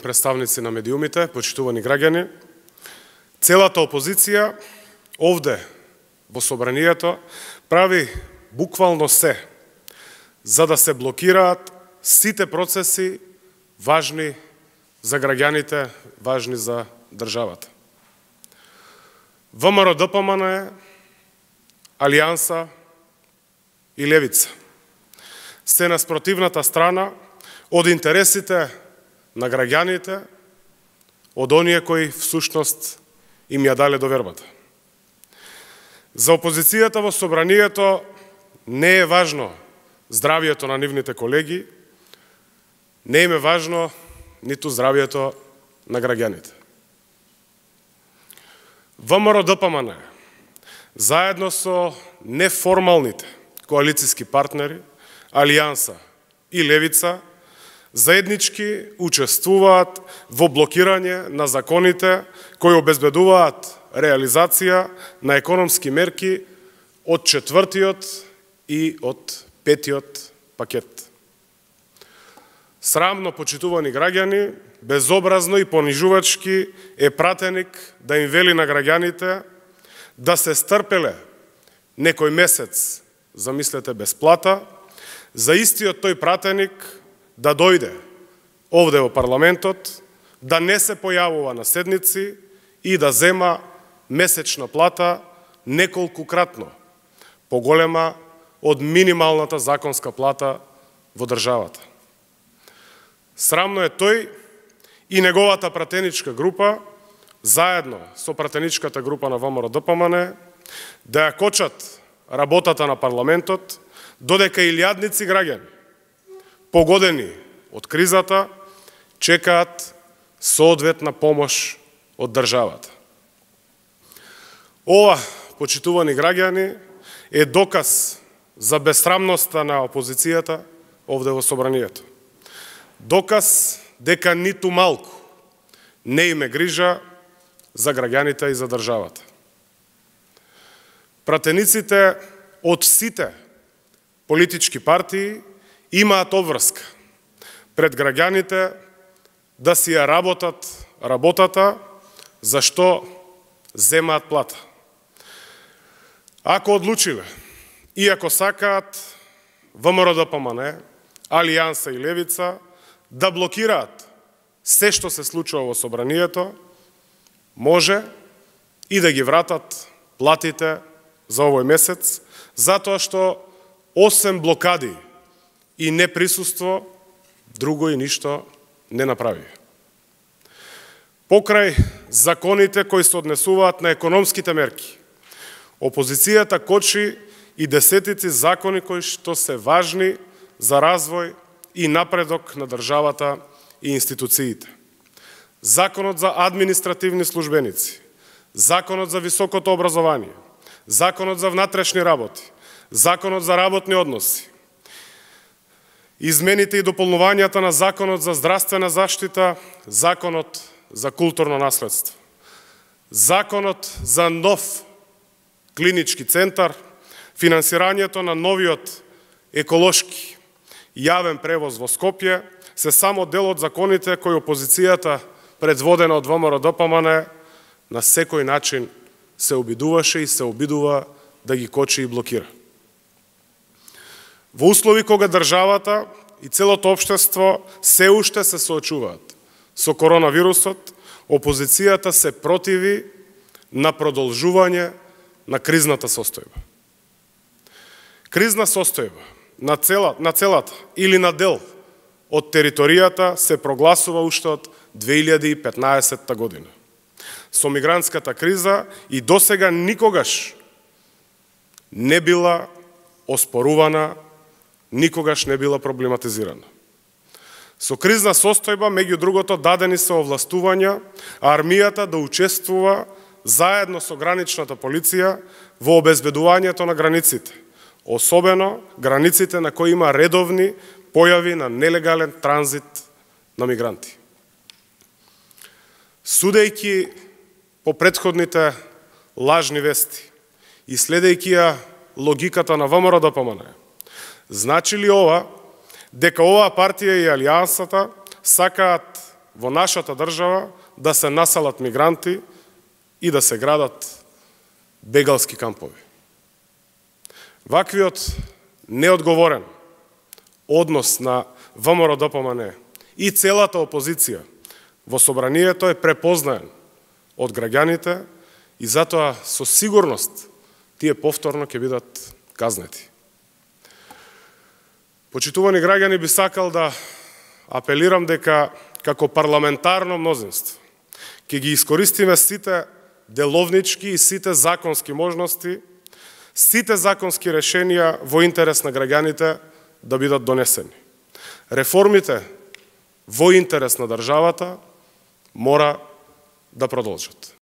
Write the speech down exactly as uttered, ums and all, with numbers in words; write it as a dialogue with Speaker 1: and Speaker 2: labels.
Speaker 1: Представници на медиумите, почитувани граѓани, целата опозиција овде во собранието прави буквално се за да се блокираат сите процеси важни за граѓаните, важни за државата. ВМРО-ДПМН, Алијанса и Левица се на спротивната страна од интересите на граѓаните, од оние кои всушност им ја дале довербата. За опозицијата во собранието не е важно здравието на нивните колеги, не им е важно ниту здравието на граѓаните. ВМРО-ДПМН заедно со неформалните коалициски партнери, Алијанса и Левица, заеднички учествуваат во блокирање на законите кои обезбедуваат реализација на економски мерки од четвртиот и од петиот пакет. Срамно, почитувани граѓани, безобразно и понижувачки е пратеник да им вели на граѓаните да се стрпеле некој месец, замислете, бесплата, за истиот тој пратеник да дојде овде во парламентот, да не се појавува на седници и да зема месечна плата неколкукратно поголема од минималната законска плата во државата. Срамно е тој и неговата пратеничка група, заедно со пратеничката група на ВМРО-ДПМН, да ја кочат работата на парламентот, додека илјадници граѓани, погодени од кризата, чекаат соодветна помош од државата. Ова, почитувани граѓани, е доказ за безсрамноста на опозицијата овде во собранието. Доказ дека ниту малку не име грижа за граѓаните и за државата. Пратениците од сите политички партии имаат обврска пред граѓаните да си ја работат работата за што земаат плата. Ако одлучиле и ако сакаат ВМРО-ДПМН, Алијанса и Левица да блокираат се што се случува во собранието, може и да ги вратат платите за овој месец, затоа што осем блокади и неприсуство, друго и ништо не направи. Покрај законите кои се однесуваат на економските мерки, опозицијата кочи и десетици закони кои што се важни за развој и напредок на државата и институциите. Законот за административни службеници, Законот за високото образование, Законот за внатрешни работи, Законот за работни односи, измените и дополнувањата на Законот за здравствена заштита, Законот за културно наследство, Законот за нов клинички центар, финансирањето на новиот еколошки јавен превоз во Скопје, се само дел од законите кои опозицијата, предводена од ВМРО-ДПМН, на секој начин се обидуваше и се обидува да ги кочи и блокира. Во услови кога државата и целото општество се уште се соочуваат со коронавирусот, опозицијата се противи на продолжување на кризната состојба. Кризна состојба на, цела, на целата или на дел од територијата се прогласува уште од две илјади и петнаесетта година. Со мигрантската криза и досега никогаш не била оспорувана, никогаш не била проблематизирана. Со кризна состојба, меѓу другото, дадени се овластувања, а армијата да учествува заедно со граничната полиција во обезбедувањето на границите, особено границите на кои има редовни појави на нелегален транзит на мигранти. Судејќи по претходните лажни вести и следејќи ја логиката на ВМРО-ДПМН, значи ли ова дека оваа партија и Алијансата сакаат во нашата држава да се населат мигранти и да се градат бегалски кампови. Ваквиот неодговорен однос на ВМРО-ДПМН и целата опозиција во собранието е препознаен од граѓаните и затоа со сигурност тие повторно ќе бидат казнети. Почитувани граѓани, би сакал да апелирам дека како парламентарно мнозинство ќе ги искористиме сите деловнички и сите законски можности, сите законски решенија во интерес на граѓаните да бидат донесени. Реформите во интерес на државата мора да продолжат.